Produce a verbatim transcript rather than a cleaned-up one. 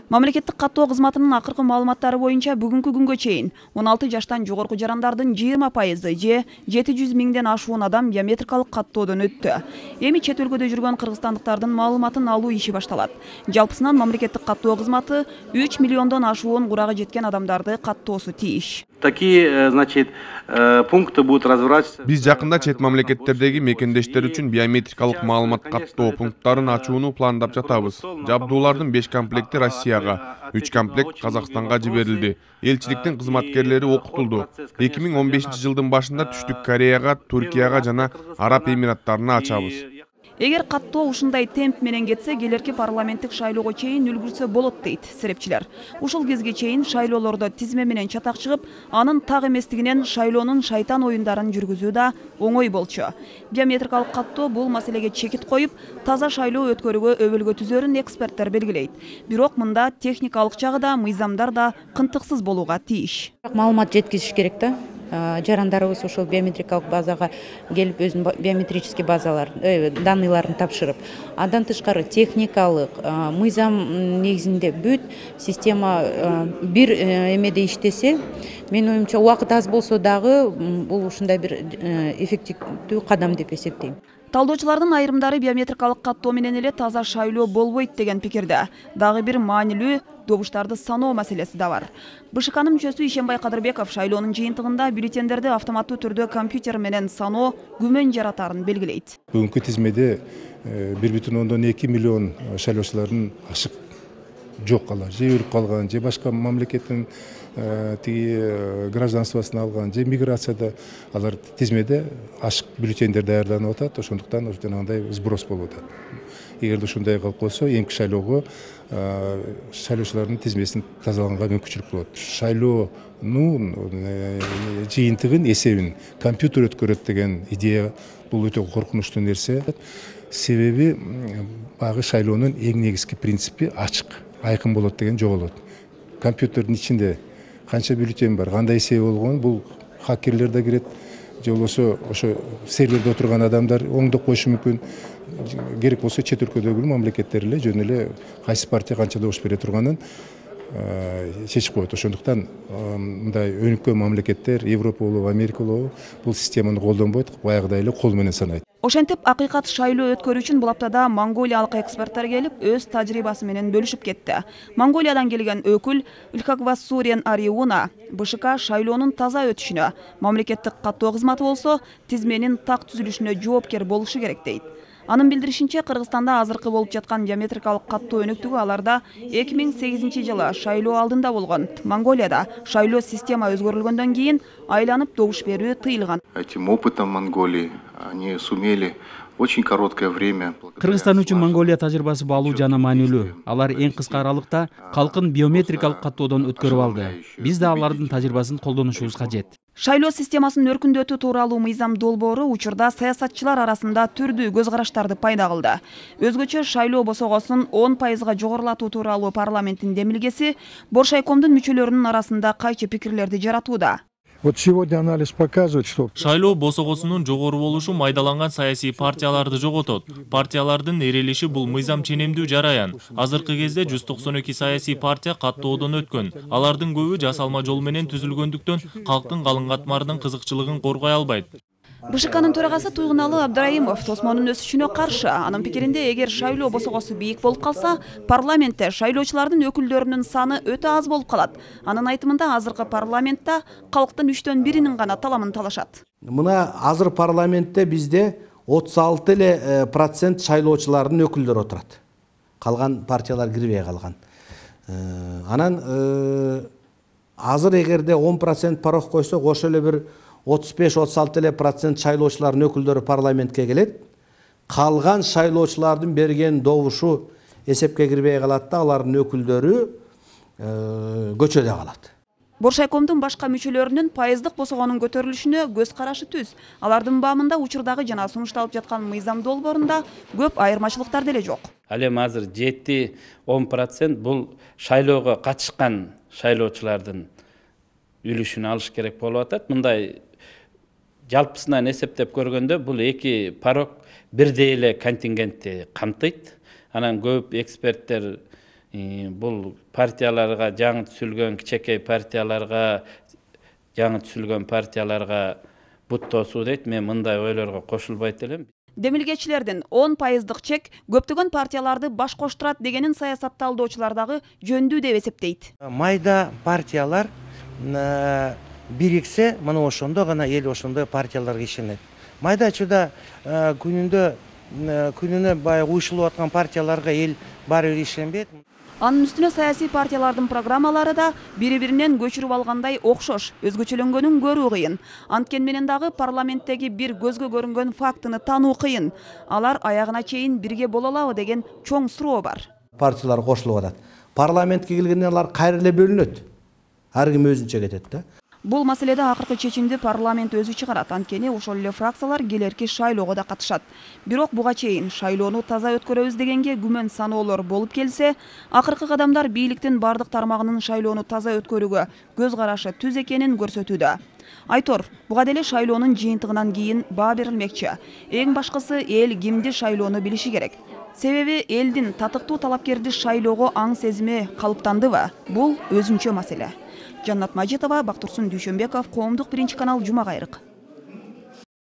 Мамлекеттик каттоо кызматынын акыркы маалыматтары боюнча бүгүнкү күнгө чейин он алты жаштан жогорку жарандардын жыйырма пайызы же жети жүз миңден ашуун адам биометрикалык каттоодон өттү. Эми чет өлкөдө жүргөн кыргызстандыктардын маалыматын алуу иши башталат. Жалпысынан мамлекеттик каттоо кызматы үч миллиондон ашуун курагы жеткен адамдарды каттоосу тийиш. Такие, значит, пункты будут разворачиваться. Биз жакында чет мамлекеттердеги мекендештер үчүн биометрикалык маалымат каттоо пункттарын ачууну пландап жатабыз. Жабдуулардын беш комплекти Россияга, үч комплект Казакстанга жиберилди. Элчиликтин кызматкерлери окутулду. эки миң он бешинчи жылдын башында Түштүк Кореяга, Түркияга жана Араб Эмираттарына ачабыз. Эгер каттоо ушундай темп менен кетсе, келерки парламенттик шайлоого чейин үлгүрсө болот дейт серепчилер. Ушул кезге чейин шайлоолордо тизме менен чатак чыгып, анын так эместигинен шайлоонун шайтан оюндарын жүргүзүү да оңой болчу. Биометрикалык каттоо бул маселеге чекит коюп, таза шайлоо өткөрүүгө өбөлгө түзөрүн эксперттер белгилейт. Бирок мында техникалык жагы да, мыйзамдар да кынтыксыз болууга тийиш. Маалымат жеткизиш керек да. Жарандарыбыз ушул биометрикалык базага келип өзүнүн биометрический базалар, данныйларын тапшырып, андан тышкары техникалык, мыйзам негизинде бүт система бир эмеде иштесе, менин оюмча убакыт аз болсо дагы бул ушундай бир эффективдүү кадам деп эсептейм. Талдоочулардын айрымдары биометрикалык каттоо менен эле таза шайлоо болбойт деген пикирде. Дагы бир маанилүү добуштарды саноо маселеси да бар. БШКнын мүчөсү Ишенбай Кадырбеков шайлоонун жыйынтыгында бюллетендерди автоматтуу түрдө компьютер менен саноо күмөн жаратарын белгилейт. Бүгүнкү тизмеде бир бүтүн ондон эки миллион шайлоочулардын ашык жок алар, же өлүп калган, же башка мамлекеттин тиги гражданствосын алган, же миграцияда алар тизмеде ашык бюллетендер даярданып атат, ошондуктан жанагындай сброс болуп атат. Эгерде ушундай кылып койсо, эмки шайлоого шайлоочулардын тизмесин тазалаганга мүмкүнчүлүк болот. Шайлоонун жыйынтыгын, эсебин компьютер өткөрөт деген идея бул өтө коркунучтуу нерсе. Себеби багы шайлоонун эң негизги принципи ачык, айкын болот деген жоголот. Компьютердин ичинде канча бюллетен бар, кандай эсеби болгон, бул хакерлер да кирет, же болбосо ошо серверде отурган адамдар оңдоп коюшу мүмкүн. Керек болсо чет өлкөдөгү мамлекеттер эле жөн эле кайсы партия канча добуш бере турганын чечип коет. Ошондуктан мындай өнүккөн мамлекеттер, Европа болобу, Америка болобу, бул системаны колдонбойт, баягыдай эле кол менен санайт. Ошентип, акыйкат шайлоо өткөрүү үчүн бул аптада монголиялык эксперттер келип, өз тажрыйбасы менен бөлүшүп кетти. Монголиядан келген өкүл Ülkagvassurian Ariuna БШК шайлоонун таза өтүшүнө, мамлекеттик каттоо кызматы болсо тизменин так түзүлүшүнө жоопкер болушу керек дейт. Анын билдиришинче, Кыргызстанда азыркы болуп жаткан биометрикалык каттоо өнүктүгү аларда эки миң сегизинчи жылы шайлоо алдында болгон. Монголияда шайлоо система өзгөрүлгөндөн кийин айланып добуш берүү тыйылган. Этим опытом Монголии они сумели очень короткое время. Кыргызстан үчүн Монголия тажрыйбасы баалуу жана маанилүү. Алар эң кыска аралыкта калкын биометрикалык каттоодон өткөрүп алды. Биз да алардын тажрыйбасын колдонушубуз кажет. Шайлоо системасынын өркүндөтүү тууралуу мыйзам долбоору учурда саясатчылар арасында түрдүү көз караштарды пайда кылды. Өзгөчө шайлоо босогосун он пайызга жогорулатуу тууралуу парламенттин демилгеси Боршайкомдун мүчөлөрүнүн арасында кайчы пикирлерди жаратууда. Вот сегодня анализ показывает, что шайлоо босогосунун жогору болушу майдаланган саясий партияларды жоготот. Партиялардын эрелиши бул мыйзам ченемдүү жараян. Азыркы кезде жүз токсон эки саясий партия каттоодон өткөн. Алардын көбү жасалма жол менен түзүлгөндүктөн калктын калың катмарынын кызыкчылыгын коргой албайт. БШКнын төрагасы Туйгуналы Абдраимов тосмонун өсүшүнө каршы. Анын пикиринде, эгер шайлоо босогосу бийик болуп калса, парламентте шайлоочулардын өкүлдөрүнүн саны өтө аз болуп калат. Анын айтымында, азыркы парламентте калктын үчтөн биринин гана таламын талашат. Мына азыр парламентте бизде отуз алты эле процент шайлоочулардын өкүлдөрү отурат. Калган партиялар кирбей калган. Анан азыр эгерде он процент порог койсок, ошо эле бир отуз беш отуз алты эле процент шайлоочулардын өкүлдөрү парламентке келет. Калган шайлоочулардын берген добушу эсепке кирбей калат да, алардын өкүлдөрү көчөдө калат. Боршайкомдун башка мүчөлөрүнүн пайыздык босогонун көтөрүлүшүнө көз карашы түз. Алардын баамында учурдагы жана сунушталып жаткан мыйзам долбоорунда көп айырмачылыктар деле жок. Ал эми азыр жети он процент бул шайлоого катышкан шайлоочулардын үлүшүн алыш керек болуп атат. Мындай жалпысынан эсептеп көргөндө бул эки порог бирдей эле контингентти камтыйт. Анан көп эксперттер бул партияларга, жаңы түзүлгөн кичекей партияларга, жаңы түзүлгөн партияларга бут тосуу дейт. Мен мындай ойлорго кошулбайт элем. Демилгечилердин он пайыздык чек көптөгөн партияларды баш коштурат дегенин саясатталдоочулар дагы жөндүү деп эсептейт. Майда партиялар бириксе, мына ошондо гана эл ошондой партияларга ишенет. Майдачыда күнүндө күнүнө баягы уюшулуп аткан партияларга эл баары бир ишенбейт. Анын үстүнө саясий партиялардын программалары да бири-биринен көчүрүп алгандай окшош, өзгөчөлөнгөнүн көрүү кыйын. Анткени менен дагы парламенттеги бир көзгө көрүнгөн фактыны таануу кыйын. Алар аягына чейин бирге боло алабы деген чоң суроо бар. Партиялар кошулуп атат. Парламентке келгенде алар кайра эле бөлүнөт. Ар ким өзүнчө кетет да. Бул маселеде акыркы чечимди парламент өзү чыгарат. Анткени ошол эле фракциялар келерки шайлоого да катышат. Бирок буга чейин шайлоону таза өткөрөбүз дегенге күмөн саноолор болуп келсе, акыркы кадамдар бийликтин бардык тармагынын шайлоону таза өткөрүүгө көз карашы түз экенин көрсөтүүдө. Айтор, буга деле шайлоонун жыйынтыгынан кийин баа берилмекчи. Эң башкысы эл кимди шайлоону билиши керек. Себеби элдин татыктуу талапкерди шайлоого аң сезими калыптандыбы? Бул өзүнчө маселе. Жаннат Мажитова, Бактурсун Дүйшөнбеков, Коомдук биринчи канал, Жума кайрык.